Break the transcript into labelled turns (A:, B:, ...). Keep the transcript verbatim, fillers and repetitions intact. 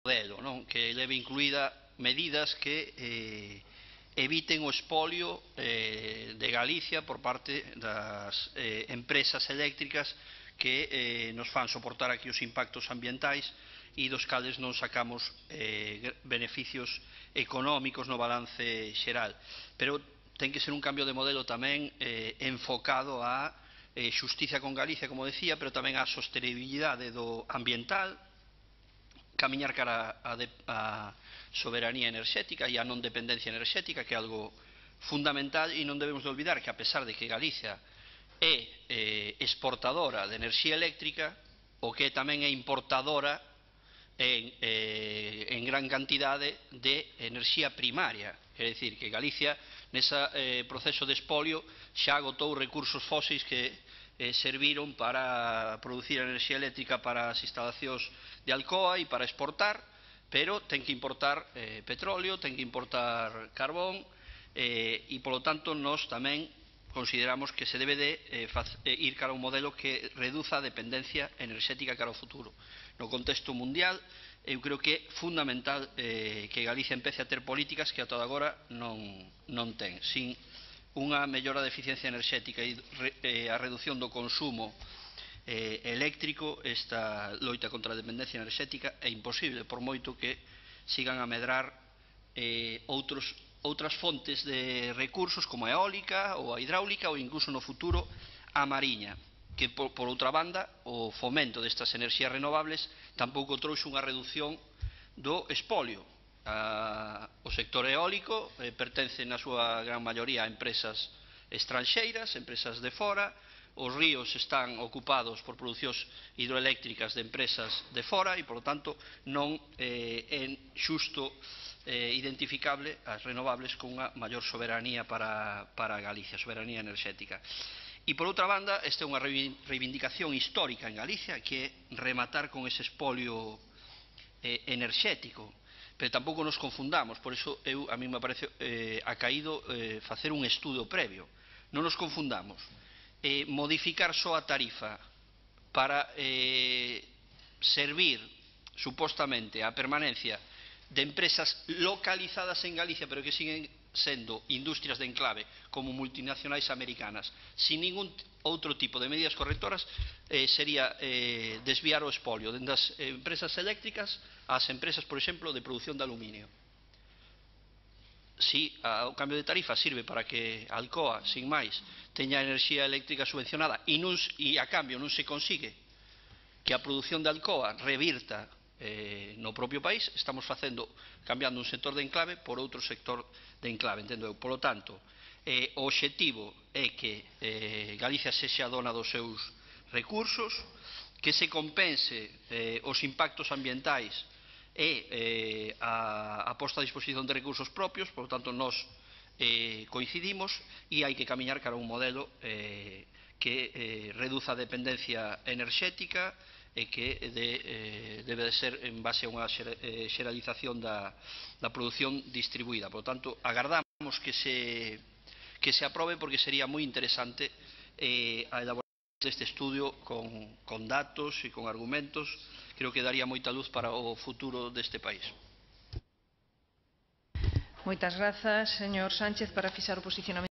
A: modelo, non? Que leve incluída medidas que eh, eviten o espolio eh, de Galicia por parte das eh, empresas eléctricas que eh, nos fan soportar aquí os impactos ambientais e dos cales non sacamos eh, beneficios económicos no balance xeral. Pero ten que ser un cambio de modelo tamén eh, enfocado a eh, xustiza con Galicia, como decía, pero tamén a sostenibilidade do ambiental, camiñar cara a, de, a soberanía enerxética e a non dependencia enerxética, que é algo fundamental, e non debemos de olvidar que, a pesar de que Galicia é eh, exportadora de enerxía eléctrica, o que tamén é importadora en, eh, en gran cantidade de enerxía primaria. É dicir, que Galicia, nese eh, proceso de espolio, xa agotou recursos fósiles que eh, serviron para producir enerxía eléctrica para as instalacións de Alcoa e para exportar, pero ten que importar eh, petróleo, ten que importar carbón, eh, e, polo tanto, nós tamén consideramos que se debe de eh, faz, eh, ir cara a un modelo que reduza a dependencia enerxética cara ao futuro. No contexto mundial, eu creo que é fundamental eh, que Galicia empece a ter políticas que ata agora non, non ten. Sin unha mellora da eficiencia enerxética e re, eh, a reducción do consumo eh, eléctrico, esta loita contra a dependencia enerxética é imposible, por moito que sigan a medrar eh, outros outras fontes de recursos como a eólica ou a hidráulica ou incluso no futuro a mariña, que por, por outra banda o fomento destas enerxías renovables tampouco trouxe unha reducción do espolio. A, o sector eólico eh, pertence na súa gran maioría a empresas estranxeiras, empresas de fora, os ríos están ocupados por producións hidroeléctricas de empresas de fora e, polo tanto, non eh, é xusto eh, identificable as renovables con unha maior soberanía para, para Galicia, soberanía enerxética. E, por outra banda, esta é unha reivindicación histórica en Galicia, que é rematar con ese espolio eh, enerxético. Pero tampouco nos confundamos, por iso eu, a mí me parece eh, acaído eh, facer un estudo previo. Non nos confundamos. Eh, modificar só a tarifa para eh, servir supostamente a permanencia de empresas localizadas en Galicia pero que siguen sendo industrias de enclave como multinacionais americanas sin ningún outro tipo de medidas correctoras eh, sería eh, desviar o espolio dende as empresas eléctricas ás empresas, por exemplo, de produción de aluminio. Si a, o cambio de tarifa sirve para que Alcoa, sin máis, teña enerxía eléctrica subvencionada e, non, e a cambio non se consigue que a produción de Alcoa revirta eh, no propio país, estamos facendo, cambiando un sector de enclave por outro sector de enclave, entendo eu. Por lo tanto, eh, o obxectivo é que eh, Galicia sexa dona dos seus recursos, que se compense eh, os impactos ambientais e eh, a, a posta a disposición de recursos propios, por lo tanto, nós eh, coincidimos e hai que camiñar cara a un modelo eh, que eh, reduza a dependencia enerxética e que de, eh, debe de ser en base a unha xeralización da, da produción distribuída. Por lo tanto, agardamos que se, que se aprobe porque sería moi interesante eh, a elaboración deste estudio con, con datos e con argumentos. Creo que daría moita luz para o futuro deste país.
B: Moitas grazas, señor Sánchez, para fixar o posicionamento.